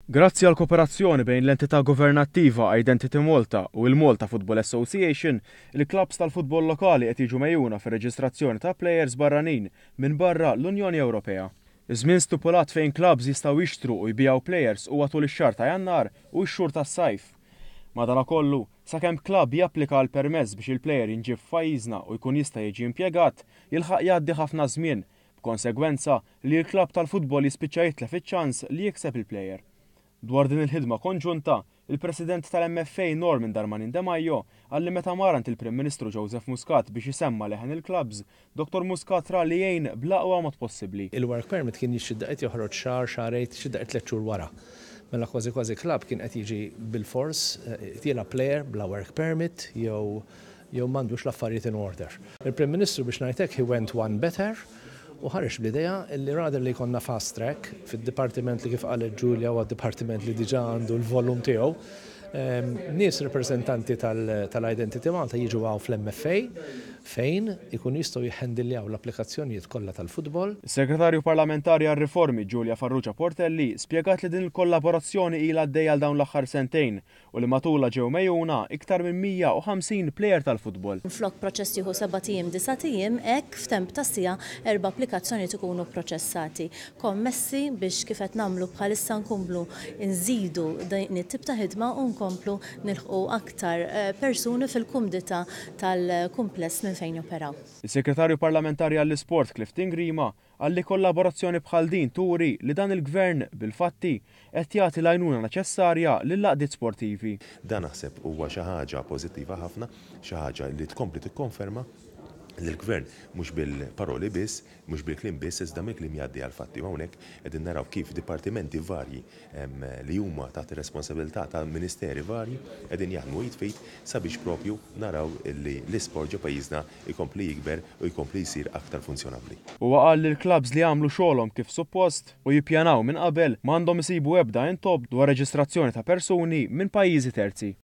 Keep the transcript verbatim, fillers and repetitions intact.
Grazzi għal kooperazzjoni bejn l-entità governattiva Identity Malta u il-Malta Football Association, il-klabs tal-futbol lokali qed jiġu megħjuna fir-reġistrazzjoni ta' plejers barranin minn barra l-Unjoni Ewropea. Iż-żmien stipulat fejn klabs jistgħu jixtru u jbigħu plejers huwa tul ix-xahar ta' Jannar u x-xhur tas-sajf. Madanakollu, sakemm klabb japplika għal permess biex il-plejer jinġib f'pajjiżna u jkun jista' jiġi impjegat, jilħaq jgħaddi ħafna żmien, b'konsegwenza li l-klabb tal-futbol jispiċċa jitlef iċ-ċans li jikseb il-plejer. Dwar din il-ħidma konġunta, il-President tal-M F A Norman Darmanin Demajo qal li meta mar għand il-Prim Ministru Joseph Muscat biex isemma leħen il-klabs, Doktor Muscat ra li jgħin bl-aqwa mod possibbli. Il-work permit kien xi daqqiet joħroġ xahar, xahrejn, xi daqqiet tliet xhur wara. Mela kważi kważi klab kien qed jiġi bil-fors jilgħab player bla work permit jew jew m'għandux l-affarijiet in order. Il-Prim Ministru, biex ngħidlek, he went one better u ħareġ bl-idea li rather li jkollna fast track fid-dipartiment li, kif qalet Julia, huwa dipartiment li diġà għandu l-volum tiegħu. Nies reprezentanti tal-Identity Malta jiġu hawn fl-M F A fejn ikun jistgħu jħendiljaw l-applikazzjonijiet kollha tal-futbol. Is-Segretarju Parlamentari għar-Riformi Julia Farrugia Portelli spjegat li din il-kollaborazzjoni ilha għaddejja għal dawn l-aħħar sentejn u li matulha ġew megħjuna iktar minn mija u ħamsin plejer tal-futbol. Flok proċess jieħu sebat ijiem, disat ijiem, hekk f'temp ta' siegħa erba' applikazzjoni ikunu proċessati. Kommessi biex kif qed nagħmlu bħalissa nkomplu nżidu din it-tip ta' ħidma u nkomplu nilħqu aktar eh, persuni fil-kumdità tal-kumpless minn fejn joperaw. Is-Segretarju Parlamentari għall-Isport Clifton Grima qal li kollaborazzjoni bħal din turi li dan il-gvern bil-fatti qed jagħti l-għajnuna neċessarja lill-għaqdiet sportivi. Dan naħseb huwa xi ħaġa pożittiva ħafna, xi ħaġa li tkompli tikkonferma li l-gvern mhux bil-paroli biss, mhux bil-kliem biss, iżda mill-kliem jgħaddi għal-fatti. U hawnhekk qegħdin naraw kif dipartimenti varji li huma taħt ir-responsabilità ta' ministeri varji qegħdin jaħdmu id f'id sabiex propju naraw li l-isport ġo pajjiżna jkompli jikber u jkompli jsir aktar funzjonabbli. Huwa qal li l-klabs li għamlu xogħolhom kif suppost u jippjanaw minn qabel m'għandhom isibu ebda intopp dwar reġistrazzjoni ta' persuni minn pajjiżi terzi.